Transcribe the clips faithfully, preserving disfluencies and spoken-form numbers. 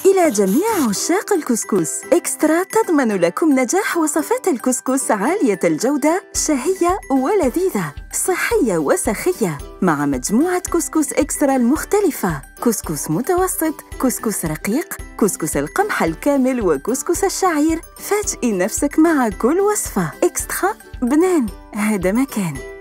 إلى جميع عشاق الكسكس، إكسترا تضمن لكم نجاح وصفات الكسكس عالية الجودة، شهية ولذيذة، صحية وسخية، مع مجموعة كسكس إكسترا المختلفة: كسكس متوسط، كسكس رقيق، كسكس القمح الكامل، وكسكس الشعير. فاجئي نفسك مع كل وصفة. إكسترا بنان، هذا مكان.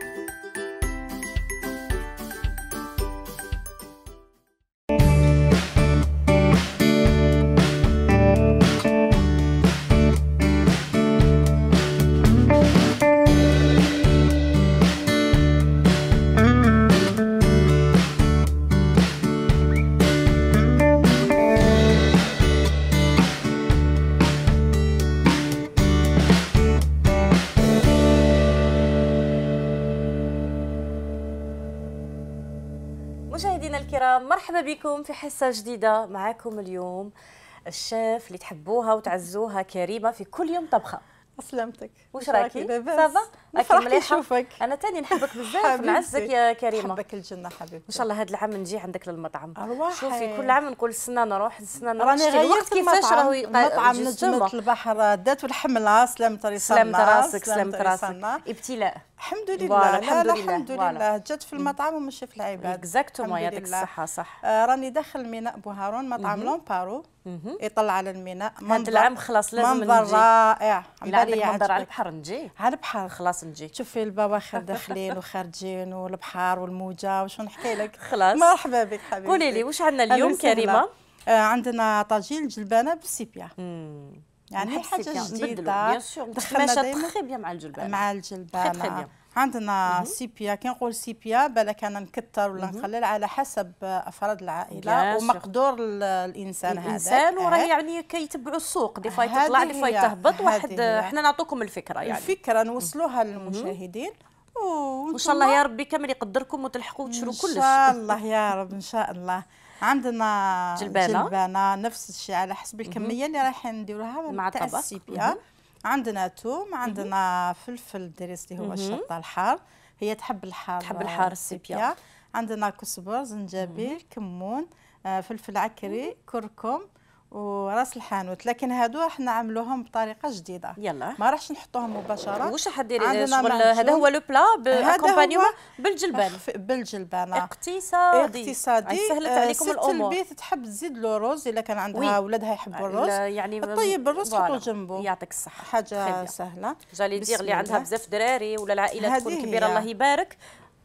مشاهدينا الكرام، مرحبا بكم في حصة جديدة. معكم اليوم الشيف اللي تحبوها وتعزوها، كريمة، في كل يوم طبخة. سلامتك. واش راكي؟ صافا؟ راكي مليحة؟ نشوفك. أنا تاني نحبك بزاف، نعزك يا كريمة. نحبك الجنة حبيبتي. إن شاء الله هذا العام نجي عندك للمطعم. أرواحي. شوفي كل عام نقول السنة نروح السنة نروح. راني غيرت كيفاش راهو مطعم نجمة البحر دات والحملة. سلامة راسك. سلامة راسك. سلامة راسك. ابتلاء. الحمد لله. الحمد لله. الحمد لله. جات في المطعم وماشي في العباد. اكزاكتومون، يعطيك الصحة. صح. آه راني داخل ميناء بوهارون، مطعم لومبارو يطل على الميناء. هذا العام خلاص لازم نجي. منظر رائع. إلا عندك منظر على البحر نجي. على البحر خلاص نجي. تشوفي البواخر داخلين وخارجين والبحر والموجة، وشو نحكي لك. خلاص. مرحبا بك حبيبتي. قولي لي واش عندنا اليوم كريمة؟ آه عندنا طاجين الجلبانة بالسيبيا. يعني حاجة جديدة. بيان سور دخلنا تخي بيان مع الجلبانة. مع الجلبانة. عندنا سيبيا. كي نقول سيبيا بالك انا نكثر ولا نقلل على حسب افراد العائله ومقدور الانسان. هذا الانسان وراه يعني كيتبعوا السوق، دي فاي تطلع دي فاي تهبط. واحد حنا نعطوكم الفكره، يعني الفكره نوصلوها للمشاهدين. وان شاء الله يا ربي كامل يقدركم وتلحقوا وتشروا كلش. ان شاء الله يا رب. ان شاء الله. عندنا جلبانه, جلبانة نفس الشيء على حسب الكميه اللي رايحين نديروها مع الطبق. السيبيا. عندنا توم، عندنا فلفل دريس اللي هو الشطه الحار، هي تحب الحار. تحب الحار السيبيا. عندنا كزبر، زنجبيل، كمون، آه فلفل عكري، كركم وراس الحانوت. لكن هادو راح نعملوهم بطريقه جديده. يلا ما راحش نحطوهم مباشره. واش حديري شغل؟ هذا هو لو بلا باكومبانيومون بالجلبان. بالجلبانه اقتصادي. اقتصادي. سهلت عليكم الامور. البيت تحب تزيد له رز الا كان عندها ولادها يحبوا الرز، يعني طيب الرز حطوا جنبه. يعطيك الصحه. حاجه سهله. جالي دير اللي عندها بزاف دراري ولا العائله تكون كبيره الله يبارك،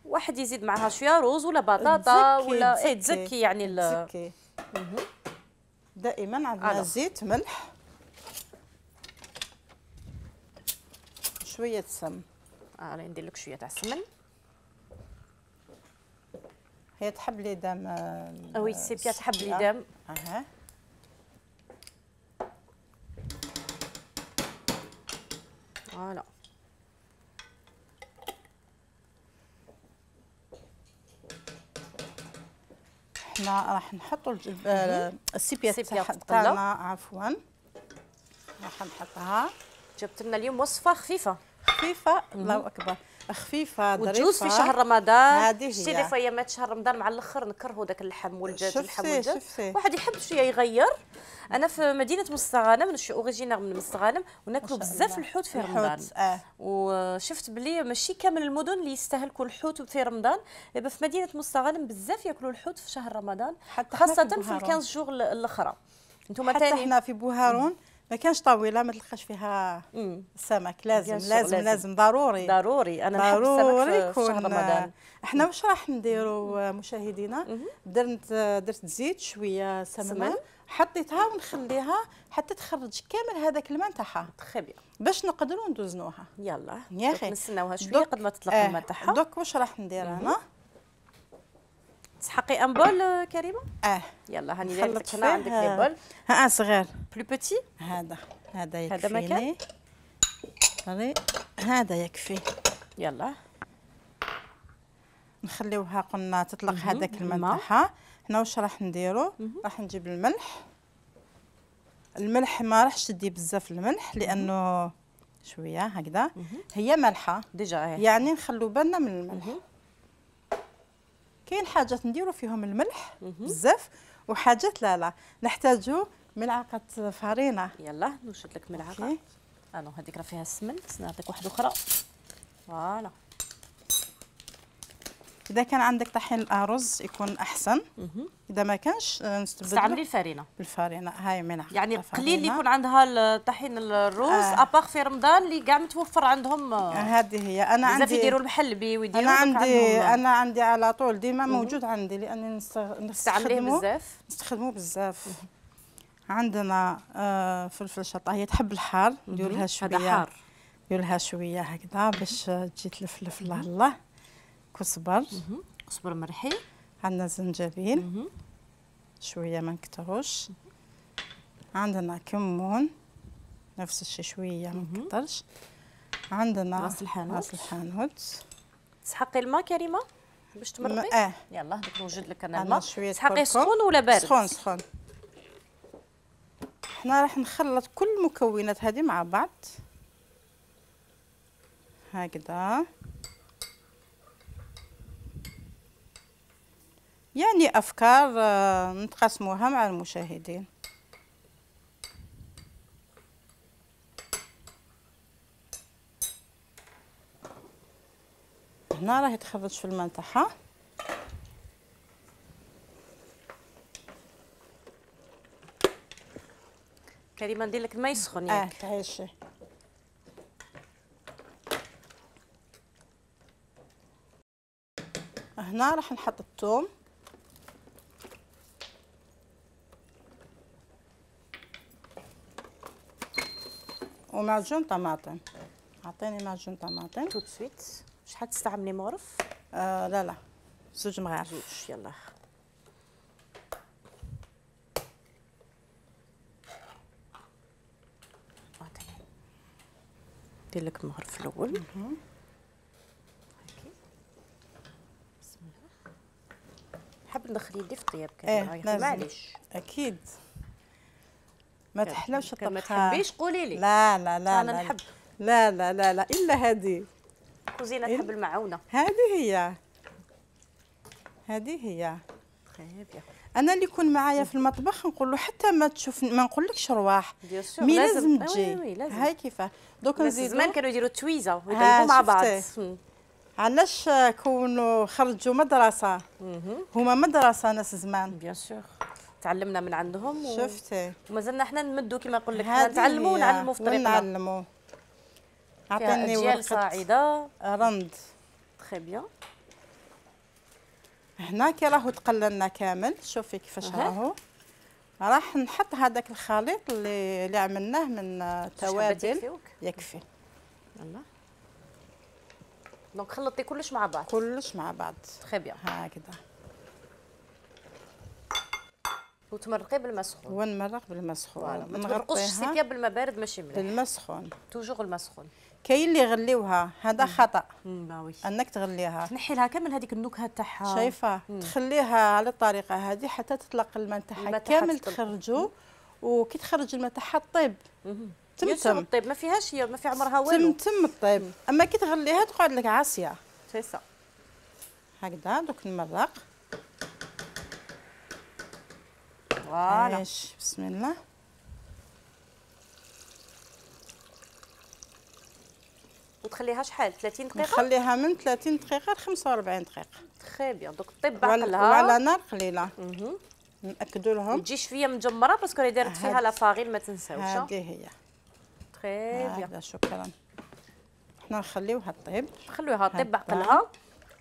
واحد يزيد معها شويه رز ولا بطاطا ولا ايه تزكي يعني تزكي. دائما عندنا زيت، ملح، شويه سمن. اه راني ندير لك شويه تاع السمن. هي تحب لي دام. وي سيبيا تحب لي دام. اها فوالا. احنا راح نحطوا السيبيا تاعنا. عفوا راح نحطها. جبت لنا اليوم وصفه خفيفه خفيفه. الله اكبر. خفيفه ظريفه وتجوز في شهر رمضان. هذه شتي لي في ايامات شهر رمضان مع الاخر نكرهوا داك اللحم والدجاج. اللحم والدجاج شفتي. واحد يحب شويه يغير. انا في مدينه مستغانم، انا شي اوريجينير من مستغانم، وناكلوا بزاف الحوت في رمضان. آه. وشفت بلي ماشي كامل المدن اللي يستهلكوا الحوت في رمضان، دابا في مدينه مستغانم بزاف ياكلوا الحوت في شهر رمضان، خاصه في الخمسة شهور الاخرى. انتم حتى تاني حنا في بوهارون ما كانش طاوله ما تلقاش فيها مم. السمك. لازم لازم, لازم لازم ضروري ضروري. انا نحب السمك في شهر رمضان. احنا واش راح نديروا مشاهدينا؟ درت درت زيت شويه سمنه، حطيتها ونخليها حتى تخرج كامل هذاك الماء تاعها. تخي بيان باش نقدروا ندوزنوها. يلا يا اخي نستناوها شويه قد ما تطلق الماء تاعها. دوك واش راح ندير انا؟ تسحقي ان بول كريمه؟ اه يلا هاني دايرك هنا عندك لي بول. ها صغير بلو بوتي. هذا هذا يكفي. هذا مكان. هذا يكفي. يلا نخليوها قلنا تطلق هذاك الماء تاعها. حنا واش راح نديرو؟ راح نجيب الملح. الملح ما راحش تدي بزاف الملح لانه شويه هكذا هي مالحه ديجا، يعني نخلو بالنا من الملح. كاين حاجات نديرو فيهم الملح بزاف وحاجات لا لا نحتاجوا ملعقه فرينه. يلا نوجد لك ملعقه. انا هذيك راه فيها السمن، نعطيك واحده اخرى. فوالا. اذا كان عندك طحين الارز يكون احسن. اذا ما كانش نستبدلوا استعملي الفرينه. بالفرينه هاي ملعقه. يعني قليل اللي يكون عندها طحين الروز آه. اباغ في رمضان اللي كاع متوفر عندهم. هذه هي. انا عندي بزاف يديروا المحلبي ويديروا. انا عندي انا عندي على طول ديما موجود عندي لاني نستعمليه بزاف. نستخدموه بزاف. عندنا آه فلفل شطه، هي تحب الحار ندير لها شويه. هذا حار. ندير لها شويه هكذا باش تجي تلفلف. الله الله. كزبر. كزبر مرحي. عندنا زنجبيل شويه ما نكتروش. عندنا كمون نفس الشيء شويه ما نكترش. عندنا راس الحانوت. راس الحانوت. تسحقي الماء كريمه باش تمرقي. اه يلا هذاك نوجد لك انا الماء. تسحقي سخون ولا بارد؟ سخون سخون. حنا راح نخلط كل المكونات هذه مع بعض هكذا. يعني افكار نتقاسموها مع المشاهدين. هنا راهي تخرج في الماء تاعها. كريمه ندير لك الماء يسخن اه ياك. تعيشي. هنا راح نحط الثوم ومعجون طماطم. اعطيني معجون طماطم. تو سويت. شحال تستعملي مغرف؟ آه لا لا زوج مغارف. زوج. يلا ندير لك المغرف الاول. بسم الله. حاب ندخل يدي في الطياب كامل. ايه معليش. اكيد ما تحلاوش الطبخه. ما تحبيش قولي لي. لا لا لا انا لا نحب. لا لا لا لا الا هذه كوزينه تحب المعونه. هذه هي هذه هي. طيب. انا اللي يكون معايا في المطبخ نقول له حتى ما تشوف ما نقولكش رواح مي لازم تجي. هاي كيفاه دوك نزيدو. زمان كانوا يديروا التويزه ويطيبوا مع بعض. علاش كونوا خرجوا مدرسه. هما مدرسه ناس زمان. بيان سور تعلمنا من عندهم. و... شفتي ومازلنا حنا نمدوا كما نقول لك حنا نتعلموا ونعلموا في طريقنا. نعلموا. عطيني ورقه صاعده رند. تري بيان. هنا كي راهو تقللنا كامل. شوفي كيفاش راهو. راح نحط هذاك الخليط اللي اللي عملناه من توابل. يكفي. يلا دونك خلطي كلش مع بعض. كلش مع بعض. تري بيان. هكذا. وتمرقي بالماء سخون. ونمرق بالماء سخون. ما تمرقوش السيكه بالماء بارد ماشي مليح. بالماء سخون. توجور الماء سخون. كاين اللي يغليوها هذا خطا. باوي. انك تغليها. تنحي لها كامل هذيك النكهه تاعها. شايفه تخليها على الطريقه هذه حتى تطلق الماء تاعها كامل تخرجوا. وكي تخرج الماء تاعها طيب. تمتم الطيب ما فيهاش هي ما في عمرها والو. تمتم الطيب. اما كي تغليها تقعد لك عاصيه. سي سا. هكذا دوك نمرق. فوالا. بسم الله. وتخليها شحال ثلاثين دقيقه؟ نخليها من ثلاثين دقيقه ل خمسة وأربعين دقيقه. تري بيان. دوك طيب بعقلها وعلى نار قليله. ناكدوا لهم تجي شويه مجمره باسكو راهي دارت فيها لا فاغيل ما تنساوش. هذه هي. تري بيان. شكرا. حنا نخليوها طيب. خلوها طيب بعقلها.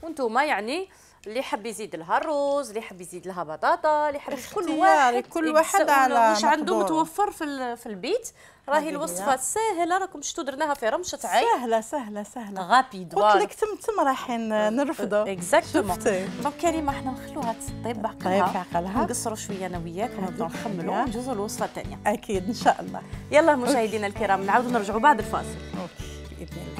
وانتوما يعني اللي حب يزيد لها الروز، اللي حب يزيد لها بطاطا، اللي حب كل واحد كل واحد على واش عنده متوفر في في البيت. راهي الوصفه ساهله راكم شفتوا درناها في رمشه عين. سهله سهله سهله غابيد. قلت لك تمتم رايحين نرفدوا. اكزاكتومون. دونك كريمه حنا نخلوها تطيب بعقلها. طيب بعقلها. نقصروا شويه انا وياك ونبداو نخملوا ونجوزوا الوصفه الثانيه. اكيد ان شاء الله. يلا مشاهدينا الكرام نعاودوا نرجعوا بعد الفاصل. اوكي باذن الله.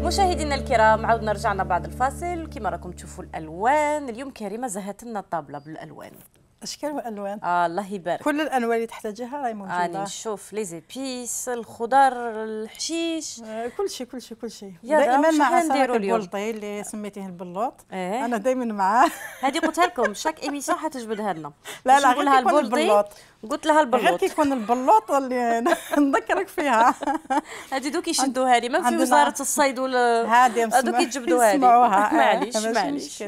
مشاهدينا الكرام عاودنا رجعنا بعد الفاصل. كما راكم تشوفوا الالوان اليوم كريمه زهت لنا الطابله بالالوان. اشكال والوان. آه الله يبارك. كل الانواع اللي تحتاجها راهي موجوده. راني نشوف لي زيبيس، الخضر، الحشيش، آه كل شيء كل شيء كل شيء. دائما مع سمك البلطي اللي سميتيه البلوط. إيه؟ انا دائما معاه. هذه قلتها لكم شاك ايميسيون حتجبدها لنا. لا لا نقول لها البلطي، قلت لها البلوط. غير كي يكون البلوط اللي نذكرك فيها. هذه دوك يشدوها لي ما في وزاره الصيد ولا هذه دوك يجبدوها لي. معليش معليش.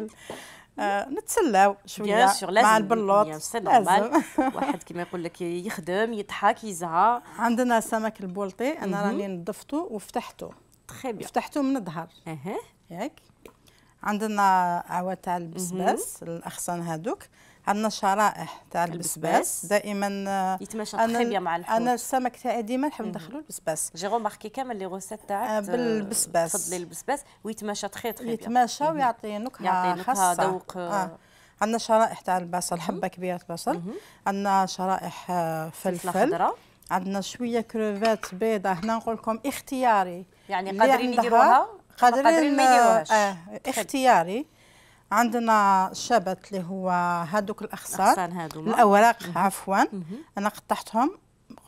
آه نتسلاو شويه مع البلوط. لازم واحد كيما يقول لك يخدم يضحك يزهى. عندنا سمك البلطي انا راني نظفته وفتحته. تري بيان. فتحته من الظهر. اها ياك. عندنا عوا تاع البسباس الاغصان هذوك. عندنا شرائح تاع البسباس دائما يتماشى تري بيان مع الحوت. انا السمك تاعي ديما نحب ندخلو البسباس. جي غوماركي كامل لي غوسيت تاعك بالبسباس. تفضلي البسباس ويتماشى تري تري بيان. يتماشى ويعطي نكهه خاصه. ذوق. آه. عندنا شرائح تاع البصل، حبه كبيره البصل. عندنا شرائح فلفل. عندنا شويه كروفات بيضه. هنا نقول لكم اختياري، يعني قادرين يديروها قادرين ما يديروهاش. آه اختياري. عندنا الشبت اللي هو هذوك الاغصان الاوراق عفوا. انا قطعتهم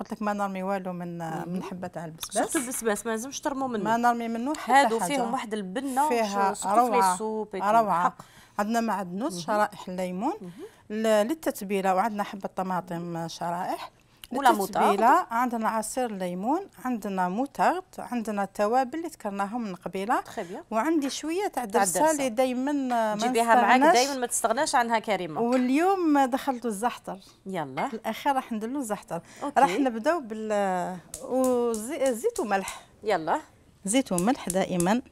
قلت لك ما نرمي والو من من حبه تاع البسباس. شفتوا البسباس ما لازمش ترموا منه، ما نرمي منه حتى هادو فيهم واحد البنه فيها روعه روعه. عندنا معدنوس شرائح الليمون للتتبيله، وعندنا حبه طماطم شرائح ولا موتارد. عندنا عصير ليمون، عندنا موتارد، عندنا التوابل اللي ذكرناهم من قبيله. وعندي شويه تاع درسه اللي دائما ما تجيبيها معاك دائما ما تستغناش عنها كريمه. واليوم دخلت الزعتر. يلا في الاخير راح نديروا الزعتر. راح نبداو بال وزيت وملح. يلا زيت وملح دائما.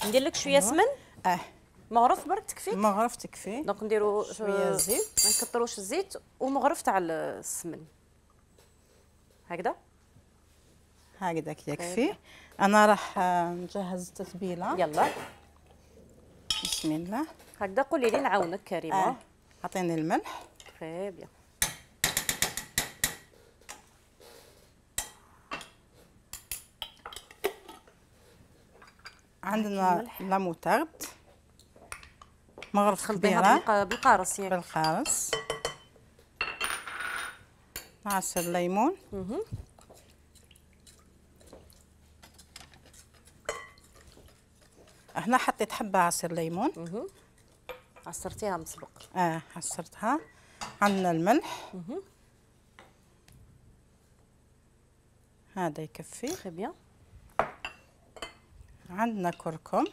ندير لك شويه سمن. اه مغرف برك تكفي. مغرف تكفي. دونك نديروا شويه زيت، ما نكثروش الزيت ومغرف تاع السمن هكذا هكذاك يكفي. انا راح نجهز التتبيله. يلا بسم الله. هكذا قولي لي نعاونك كريمه. آه. عطيني الملح. تري بيان. عندنا لا موتارد مغرف كبيره بالقارص ياك بالقارص. عصير ليمون. هنا حطيت حبه عصير ليمون. عصرتيها مسبق. اه عصرتها. عندنا الملح. هذا يكفي. تري بيان. عندنا كركم.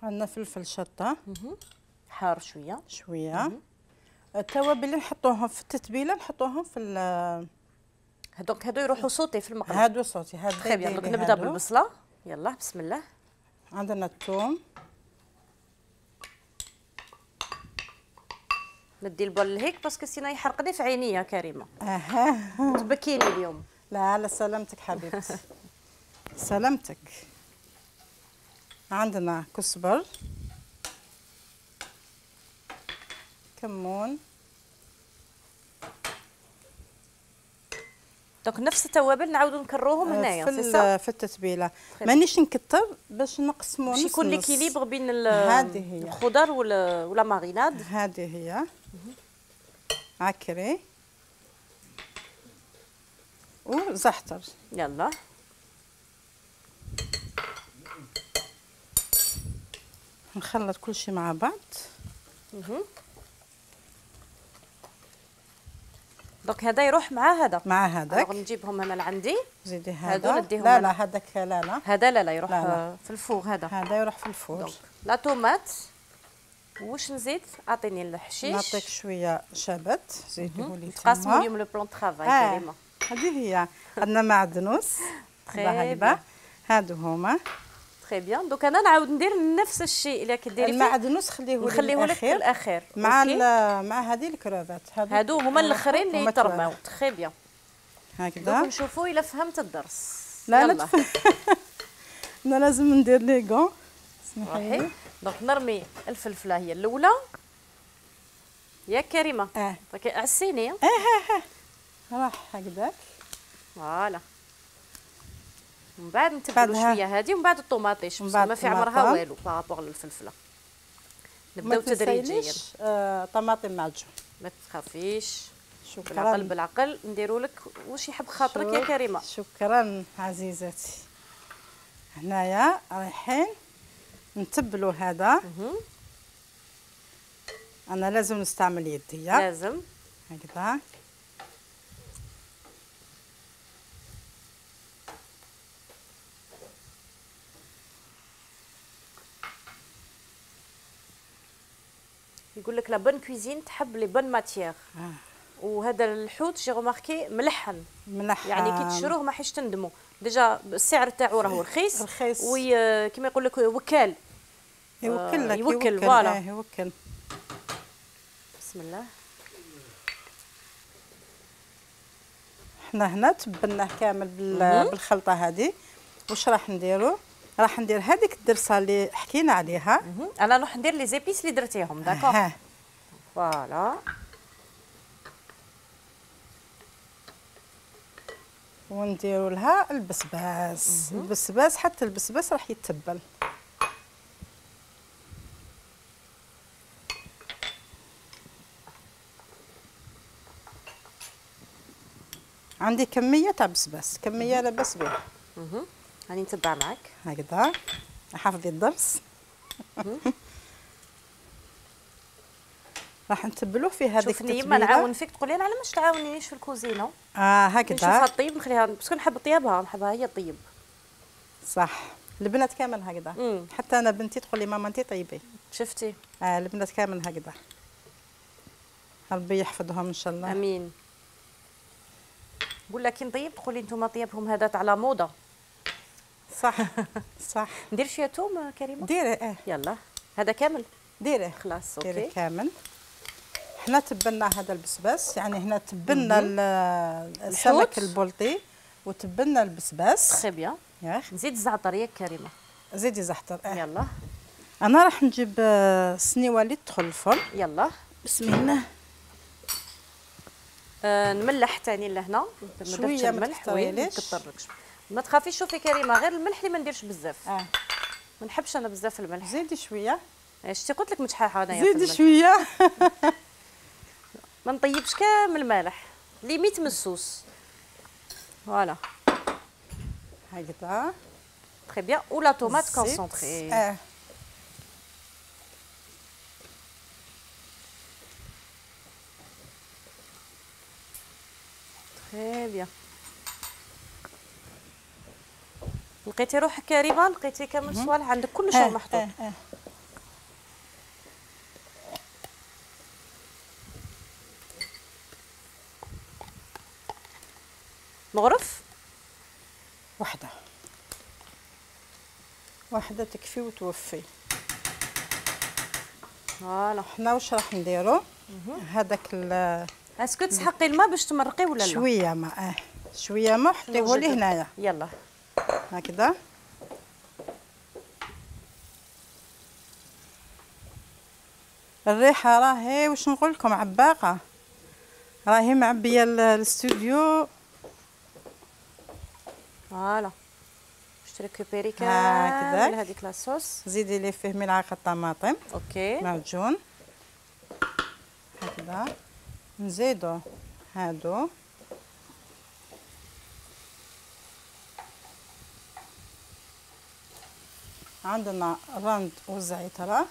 عندنا فلفل شطه حار شويه شويه. التوابل اللي نحطوهم في التتبيله نحطوهم في هذوك هادو يروحوا صوتي في المقله. هادو صوتي هادو. طيب يلا نبدا بالبصله. يلا بسم الله. عندنا الثوم. ندي البول هيك باسكو سينا يحرقني في عيني يا كريمه. اها تبكيني اليوم. لا لا سلامتك حبيبتي. سلامتك. عندنا كزبر، كمون. دونك نفس التوابل نعاودو نكروهم هنايا في في التتبيله. مانيش نكثر باش نقسمو باش يكون ليكيليبر بين هذه هي الخضر ولا ولا ماريناد. هذه هي عكري وزعتر. يلا نخلط كل شيء مع بعض. دونك هذا يروح مع هذا مع هذاك. نجيبهم انا لعندي. زيدي هذا. لا لا هذاك لا لا هذا لا لا يروح لا لا. في الفوغ هذا. هذا يروح في الفوغ. لا طوماط. واش نزيد؟ اعطيني الحشيش. نعطيك شويه شبت زيدوه لي. تقاسموا اليوم لو بلون طرافاي كريمه. هذه هي. عندنا معدنوس هكذا. هادو هما. تري بيان. دوك انا نعاود ندير نفس الشيء اللي كديري فيه. المعدنوس خليه نخليه لك في الاخير مع مع هذه الكروفات. هادو هما الاخرين اللي يترماو. تري بيان. هكذا. دوك نشوفوا الا فهمت الدرس. لا لا انا لازم ندير لي كون. صحيح. دونك نرمي الفلفله هي الاولى يا كريمه. اه عسيني. اه اه راح هكذاك. فوالا ومن بعد نتبلوا شويه هذه ومن بعد الطوماطيش ما في عمرها والو بارابور للفلفله. نبداو تدريجيا. آه، طماطم معجون. ما تخافيش. شكرا. بالعقل بالعقل نديروا لك واش يحب خاطرك يا كريمه. شكرا عزيزتي. هنايا رايحين نتبلوا هذا. انا لازم نستعمل يدي. لازم هكذا. يقول لك لا بون كويزين تحب لي بون ماتيير. آه. وهذا الحوت جي غوماركي ملحن ملحن يعني كي تشروه ما حيش تندموا. ديجا السعر تاعو راهو رخيص رخيص وي كيما يقول لك وكال يوكل لك يوكل فوالا. آه يوكل. بسم الله. حنا هنا تبلناه كامل بالخلطه هذه. واش راح نديرو؟ راح ندير هذيك الدرسه اللي حكينا عليها. انا راح ندير لي زيبيس اللي درتيهم داكوغ. فوالا. ونديروا لها البسباس. البسباس حتى البسباس راح يتبل. عندي كميه تاع بسباس، كميه لاباس بها. اها راني نتبع معك هكذا. حافظي الدرس. راح نتبلوه في هذيك التتبيله. شوفني ما نعاون فيك تقولي انا علاش تعاونينيش في الكوزينه. اه هكذا نشوفها طيب نخليها باسكو نحب طيابها نحبها هي طيب. صح. البنات كامل هكذا. مم. حتى انا بنتي تقول لي ماما انت طيبي. شفتي. اه البنات كامل هكذا. ربي يحفظهم ان شاء الله. امين. نقول لك كي نطيب تقولي انتم طيبهم هذا تاع لا موضه. صح صح. ندير شويه توم كريمه. ديري اه. يلا هذا كامل ديري خلاص. اوكي ديري كامل. حنا تبلنا هذا البسباس يعني هنا تبلنا السمك البلطي وتبلنا البسباس. تري بيان. ياك نزيد الزعتر ياك كريمه. زيدي زعتر. اه يلا. انا راح نجيب السنيوه اللي تدخل الفرن. يلا بسم الله. آه نملح ثاني لهنا شويه ما تكثريليش. ما تخافيش. شوفي كريمه غير الملح اللي ما نديرش بزاف. اه ما نحبش انا بزاف الملح. زيدي شويه. شتي قلت لك متحاحه انايا. زيدي شويه. ما نطيبش كامل المالح ليميت من الصوص. فوالا هكذا. تري بيان. ولا طوماط كونسونطري. اه تري بيان. لقيتي روحك كريمه لقيتي كامل صوالح عندك كل شيء محطوط. اه اه. مغرف وحده وحده تكفي وتوفي. فوالا. حنا واش راح نديرو؟ هذاك ال اسكو تسحقي الماء باش تمرقيه ولا لا؟ شويه ماء. اه شويه ماء حطيه لي هنايا. يلا هكذا. الريحه راهي واش نقول لكم عباقه، راهي معبيه الاستوديو. فوالا باش تريكوبيري كامل هذيك لاصوص. زيدي لي فيه ملعقه طماطم. اوكي معجون هكذا. نزيدو هادو عندنا الرند والزعتر.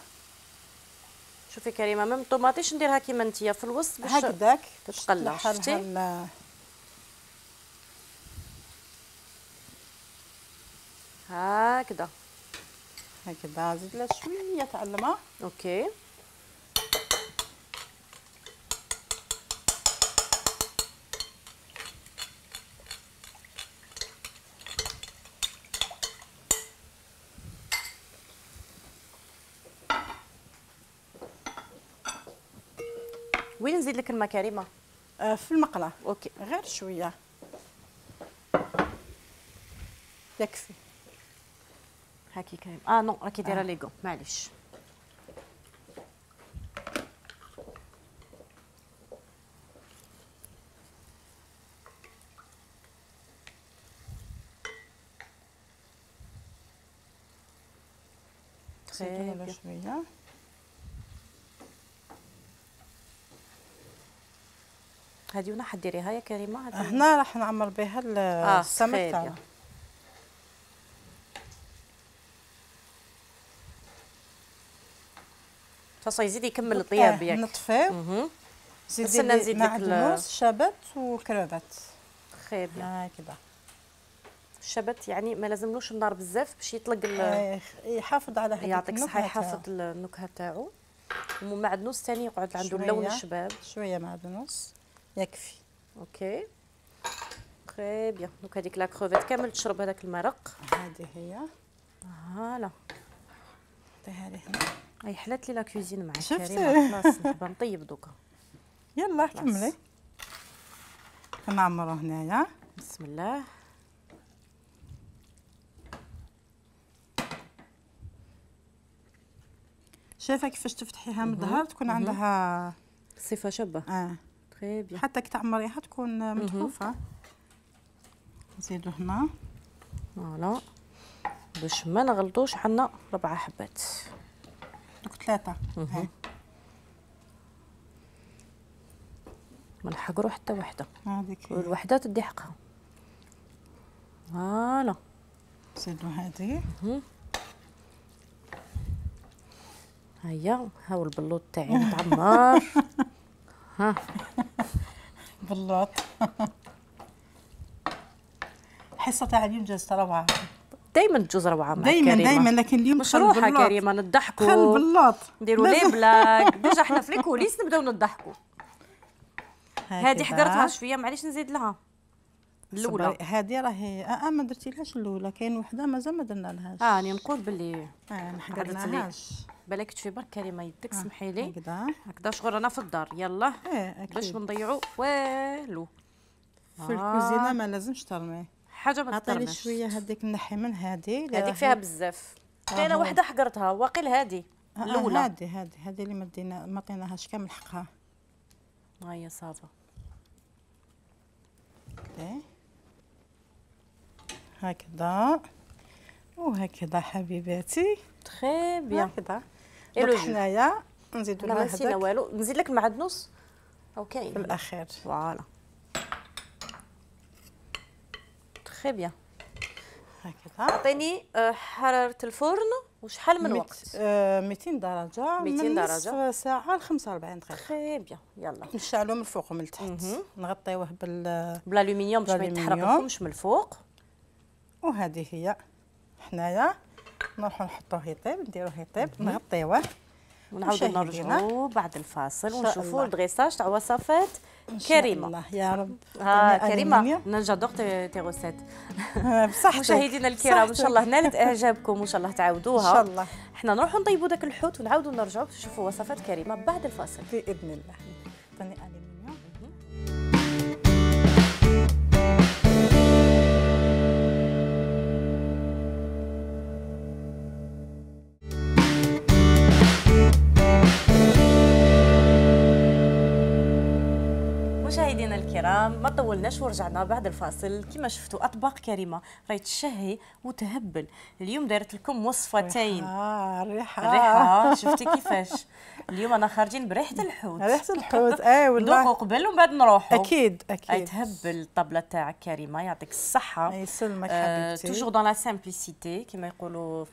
شوفي كريمه ميم الطوماطيش نديرها كيما نتيا في الوسط باش هكذاك تتقلى. شفتي هكذا هكذا. زيد لها شويه تاع الماء. اوكي وين نزيد لك الماء كريمه؟ آه في المقله. اوكي غير شويه يكفي. هاكي كريم. اه نو راكي دايره ليغو معليش. على شويه. هذه وين حديريها يا كريمه؟ هنا راح نعمر بها السمك آه تاعنا. تصاي يزيد يكمل الطياب ياك. نطفيو. زيدي نزيد لك معدنوس شبت وكروفات. خير بيان. هكذا. الشبت يعني ما لازملوش النار بزاف باش يطلق يحافظ على هذيك يعطيك الصحه، يحافظ النكهه تاعو. ومعدنوس ثاني يقعد عنده اللون الشباب. شويه معدنوس يكفي. اوكي تري بيان. دوك هذيك لا كروفيت كامل تشرب هذاك المرق. هذه هي. فوالا. هذه هنا. اي حلات لي لا كوزين مع كريمه. خلاص نحب نطيب دوكا. يلا كملي. نعمرو هنايا. بسم الله. شايفه كيفاش تفتحيها من الظهر تكون عندها صفه شابه. اه تري بيان. حتى كي تعمريها تكون متحوفه. نزيدو هنا. فوالا باش ما نغلطوش عندنا ربعه حبات. دوك ثلاثه. ما نحقرو حتى وحده. هذيك والوحده تدي حقها. فوالا. نزيدو هذه. هيا هاو البلوط تاعي متعمر. ها بلوط. الحصه تاع اليوم جازت روعه. دائما تجوز روعه مع دايما كريمه. دائما لكن اليوم مش روحه كريمه نضحكوا. خل البلوط نديروا لي بلاك. ديجا حنا في الكوليس نبداو نضحكوا. هذه حقرتها شويه معليش نزيد لها الاولى. هذه راهي اه ما درتيلهاش الاولى، كاين وحده مازال ما درنا لهاش. اه راني نقول باللي اه ما حقرناهاش. بالك تشوفي برك كريمه يدك سمحي لي. هكذا هكذا شغل رانا في الدار. يلا اه باش ما نضيعوا والو في الكوزينه. ما لازمش ترمي حاجه ما ترميش. عطيني شويه هذيك نحي من هذه. هذيك فيها بزاف. كاينه وحده حقرتها واقيل هذه الاولى. هذه هذه هذه اللي ما دينا ما عطيناهاش كامل حقها. ها هي صافا. هكذا وهكذا حبيباتي. تري بيان. هكذا. الو حنايا نزيدو لها هذاك. ما نسينا والو. نزيد لك المعدنوس او كاين في الاخير. فوالا. تري بيان. هكذا. عطيني حراره الفرن وشحال من وقت؟ مئتين درجه. مئتين درجه. نصف ساعه ل خمسة وأربعين دقيقه. تري بيان. يلا نشعلوه من الفوق ومن التحت. نغطيوه بال بالالومنيوم باش ما يتحرقلكمش من الفوق. وهذه هي حنايا نروحو نحطوه يطيب. نديروه يطيب نغطيوه ونعاودو نرجعو بعد الفاصل ونشوفو الدغيساج تاع وصفات كريمه. الله يا رب. ها كريمه انا جادور تي روسيت. بصحتك. مشاهدينا الكرام ان شاء الله نالت اعجابكم وان شاء الله تعاودوها. ان شاء الله. احنا نروحو نطيبوا داك الحوت ونعاودو نرجعو باش نشوفوا وصفات كريمه بعد الفاصل باذن الله. عطيني الومنيوم. مشاهدينا الكرام ما طولناش ورجعنا بعد الفاصل. كما شفتوا اطباق كريمه راهي تشهي وتهبل. اليوم دايرت لكم وصفتين. اه الريحه الريحه شفتي كيفاش. اليوم انا خارجين بريحه الحوت. ريحه الحوت اي والله. ندوقوا قبل ومن بعد نروحوا. اكيد اكيد. اي تهبل الطبله تاعك كريمه يعطيك الصحه. يسلمك حبيبتي. توجور دون لا سامبليسيتي كما يقولوا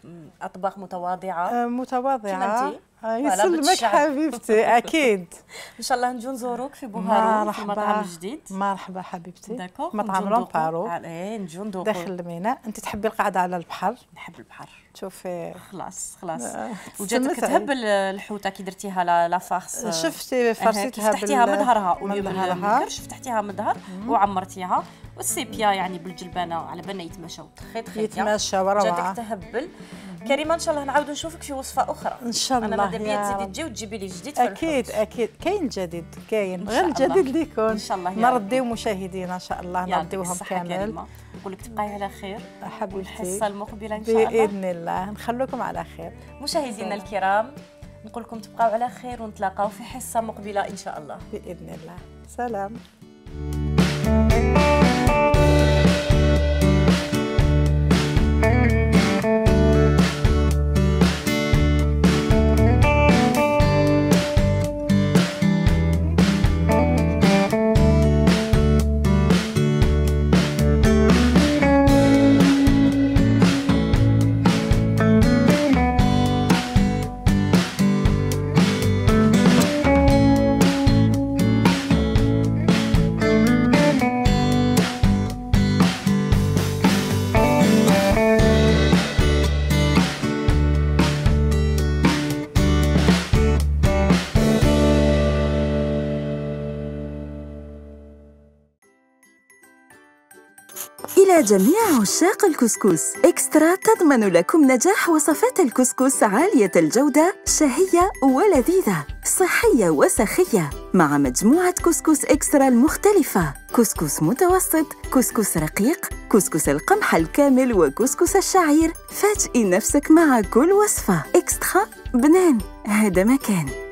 اطباق متواضعه. آه متواضعه. يسلمك حبيبتي. اكيد ان شاء الله نجو نزوروك في بوهارو في المطعم الجديد. مرحبا حبيبتي. داكوغ. مطعم لومبارو. ايه نجو ندوقو داخل الميناء. انت تحبي القعده على البحر؟ نحب البحر. شوفي خلاص خلاص. وجاتك تهبل الحوته كي درتيها لا فارس. شفتي فرسيتها فتحتيها من ظهرها مظهرها. الكرش فتحتيها من ظهر وعمرتيها. والسيبيا يعني بالجلبانه على بالنا يتمشاو تخي تخي يتمشاو روعه. جاتك تهبل كريمه. ان شاء الله نعاودو نشوفك في وصفه اخرى ان شاء الله. انا ماذا بيا تزيدي تجي وتجيبي لي جديد في اكيد اكيد. كاين جديد كاين غير الجديد اللي يكون. ان شاء الله نرديو مشاهدينا ان شاء الله نرديوهم كامل. نقول لك تبقاي على خير حبيبتي. الحصه المقبله ان شاء الله باذن الله نخلوكم على خير. مشاهدينا الكرام نقول لكم تبقاو على خير ونتلاقاو في حصه مقبله ان شاء الله باذن الله. سلام. يا جميع عشاق الكسكس، إكسترا تضمن لكم نجاح وصفات الكسكس عالية الجودة، شهية ولذيذة، صحية وسخية، مع مجموعة كسكس إكسترا المختلفة: كسكس متوسط، كسكس رقيق، كسكس القمح الكامل، وكسكس الشعير. فاجئي نفسك مع كل وصفة. إكسترا بنان، هذا مكان.